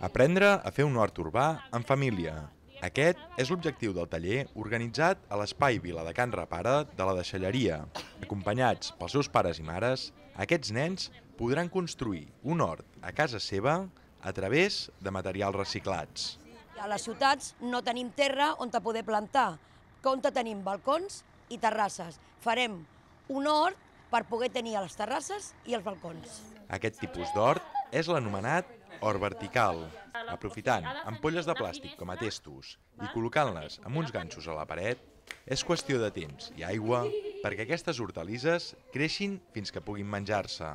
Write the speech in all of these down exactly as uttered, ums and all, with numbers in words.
Aprendre a fer un hort urbà en família. Aquest és l'objectiu del taller organitzat a l'Espai Vila de Can Repare de la Deixalleria. Acompanyats pels seus pares i mares, aquests nens podran construir un hort a casa seva a través de materials reciclats. A les ciutats no tenim terra on te poder plantar, on tenim balcons i terrasses. Farem un hort per poder tenir les terrasses i els balcons. Aquest tipus d'hort és l'anomenat hort vertical, aprofitant ampolles de plàstic com a testos i col·locant-les amb uns ganxos a la paret, és qüestió de temps i aigua perquè aquestes hortalisses creixin fins que puguin menjar-se.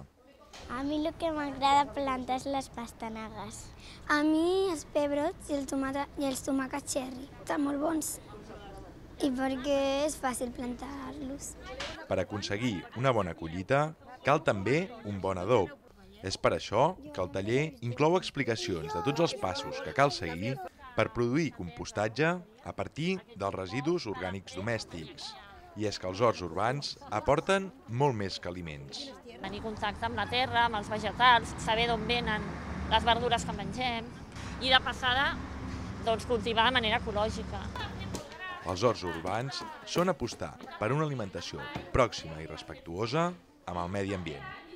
A mi el que m'agrada plantar és les pastanagues. A mi els pebrots i, el tomata, i els tomàquets cherry. Estan molt bons i perquè és fàcil plantar-los. Per aconseguir una bona collita cal també un bon adob. És per això que el taller inclou explicacions de tots els passos que cal seguir per produir compostatge a partir dels residus orgànics domèstics. I és que els horts urbans aporten molt més que aliments. Tenir contacte amb la terra, amb els vegetals, saber d'on venen les verdures que mengem i de passada doncs, cultivar de manera ecològica. Els horts urbans són apostar per una alimentació pròxima i respectuosa amb el medi ambient.